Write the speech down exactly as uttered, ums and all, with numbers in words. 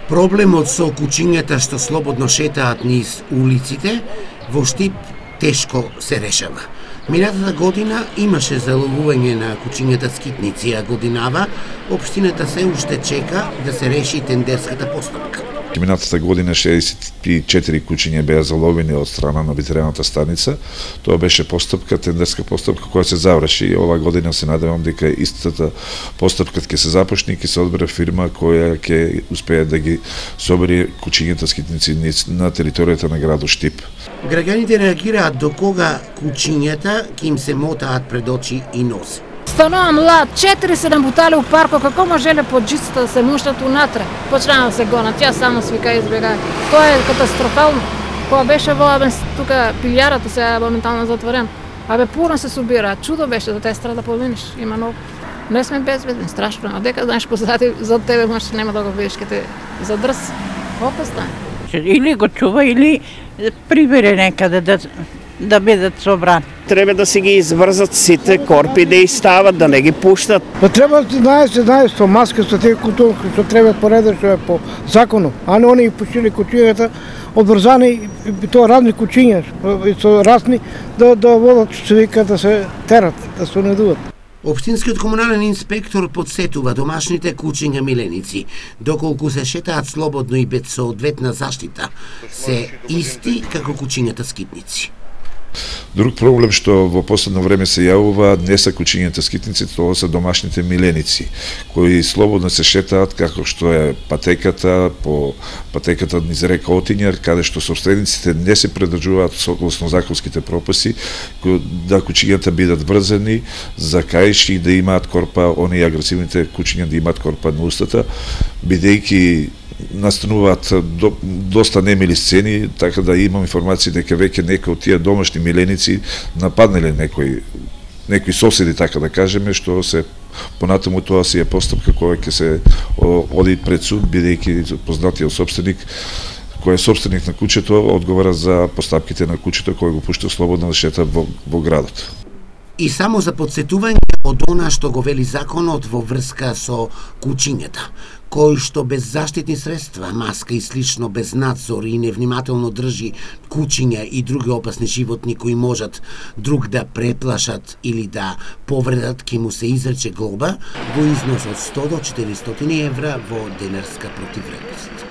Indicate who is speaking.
Speaker 1: Проблемот со кучињата што слободно шетаат низ улиците во Штип тешко се решава. Минатата година имаше заловување на кучињата скитници, а годинава општината се уште чека да се реши тендерската постапка.
Speaker 2: Минатата година шеесет и четири кучиња беа заловени од страна на ветеринарната станица. Тоа беше постапка, тендерска постапка која се заврши. Ова година се надевам дека истата постапка ќе се започне и ќе се одбере фирма која ќе успее да ги собере кучињата скитници на територијата на градот Штип.
Speaker 1: Граѓаните реагираат до кога кучињата ќе им се мотаат пред очи и носи.
Speaker 3: Станува млад, четири-седем бутали у парко, како можеле под джицата да се муштат унатре? Почнаа да се гонат, ја само свика и избегаја. Тоа е катастрофално. Кога беше во тука пилјарата сега моментално затворен. Абе пурно се собира, чудо беше да те страда поминиш. Има многу. Не сме безбедни, страшно. А дека знаеш позади за тебе може нема да го видиш ке те задрс. Опасно е.
Speaker 4: Или го чува, или прибере некаде да да бидат собрани.
Speaker 5: Треба да си ги изврзат сите корпи, да ги стават, да не ги пуштат.
Speaker 6: Па треба да знае се знае со маска, со тие кутунки, што треба поредно што е по закону. А не они ги пуштили кучињата обврзани и тоа разни кучиња, со разни да да водат што се вика да се терат, да се унедуват.
Speaker 1: Општинскиот комунален инспектор подсетува домашните кучиња миленици, доколку се шетаат слободно и без соодветна заштита, се исти како кучињата скитници.
Speaker 2: Друг проблем што во последно време се јавува не се кучињата скитници, тоа се домашните миленици, кои слободно се шетаат како што е патеката, по патеката низ река Отињар, каде што собствениците не се придржуваат согласно законските прописи, да кучињата бидат врзани за каиш и да имаат корпа, оние агресивните кучиња да имаат корпа на устата, бидејќи настануваат до, доста немили сцени, така да имам информација дека веќе некои од тие домашни миленици нападнале некои некои соседи, така да кажеме, што се понатаму тоа си е постапка која ќе се оди пред суд, бидејќи познатиот собственик кој е собственик на куќето одговара за постапките на куќето кој го пушта слободно да шета во, во градот.
Speaker 1: И само за подсетување од она што го вели законот во врска со кучињата, кој што без заштитни средства, маска и слично, без надзор и невнимателно држи кучиња и други опасни животни кои можат друг да преплашат или да повредат, ке му се изрече глоба во износ од сто до четиристотини евра во денарска противвредност.